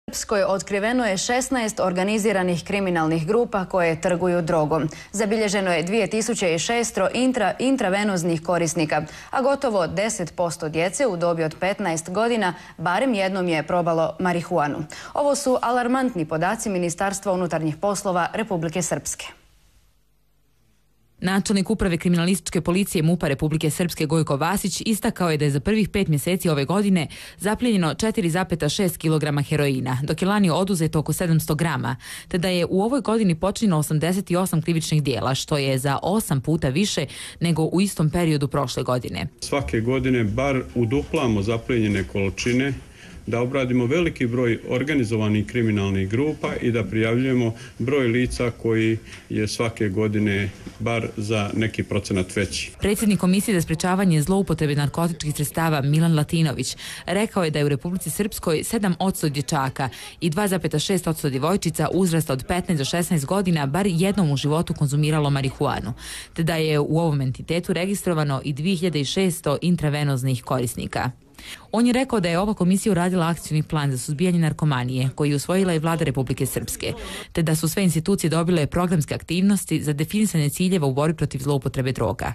Srpskoj otkriveno je 16 organiziranih kriminalnih grupa koje trguju drogom. Zabilježeno je 2600 intravenoznih korisnika, a gotovo 10% djece u dobi od 15 godina barem jednom je probalo marihuanu. Ovo su alarmantni podaci Ministarstva unutarnjih poslova Republike Srpske. Načelnik uprave kriminalističke policije MUP-a Republike Srpske Gojko Vasić istakao je da je za prvih 5 mjeseci ove godine zaplijenjeno 4,6 kg heroina, dok je lani oduzeto oko 700 grama, te da je u ovoj godini počinjeno 88 krivičnih dijela, što je za 8 puta više nego u istom periodu prošle godine. Svake godine bar uduplamo zaplijenjene količine, da obradimo veliki broj organizovanih kriminalnih grupa i da prijavljujemo broj lica koji je svake godine bar za neki procenat veći. Predsjednik Komisije za sprečavanje zloupotrebe narkotičkih sredstava Milan Latinović rekao je da je u Republici Srpskoj 7% dječaka i 2,6% djevojčica uzrasta od 15 do 16 godina bar jednom u životu konzumiralo marihuanu, te da je u ovom entitetu registrovano i 2600 intravenoznih korisnika. On je rekao da je ova komisija uradila akcioni plan za suzbijanje narkomanije koji je usvojila i Vlada Republike Srpske, te da su sve institucije dobile programske aktivnosti za definisanje ciljeva u borbi protiv zloupotrebe droga.